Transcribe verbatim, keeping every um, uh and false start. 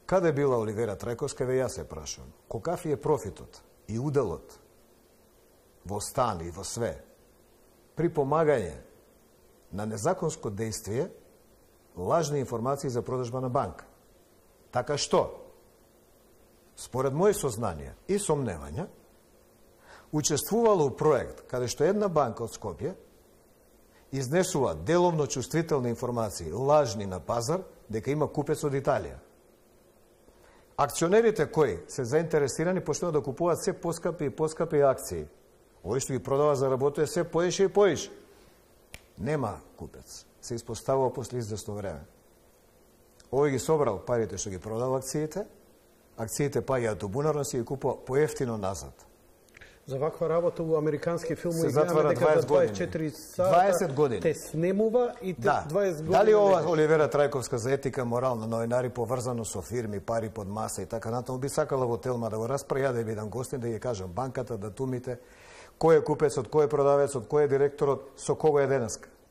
Каде била Оливера Трајковска, ве јас се прашувам. Колкав е профитот и уделот во стан и во све при помагање на незаконско действие, лажни информации за продажба на банка. Така што, според мои сознанија и сомневања, учествувало у проект каде што една банка од Скопје изнесува деловно чувствителни информации, лажни на пазар, дека има купец од Италија. Акционерите кои се заинтересирани почнуваат да купуваат се поскапи и поскапи акции. Овој што ги продава заработува се поише и поише. Нема купец. Се испоставува после известно време. Овој ги собрал парите што ги продал акциите, акциите паѓаат до бунарно, се ги купува поевтино назад. За ваква работа у американски филмови се затвара дваесет години. дваесет и четири сата дваесет години. Те снемува и те да. дваесет години. Дали ова Оливера Трајковска за етика, морал на новинари поврзано со фирми, пари под маса и така натаму, би сакала во Телма да го распра, ја да бидам гостин, да ги кажам банката, датумите, кој е купецот, кој е продавецот, кој е директорот, со кого е денеска.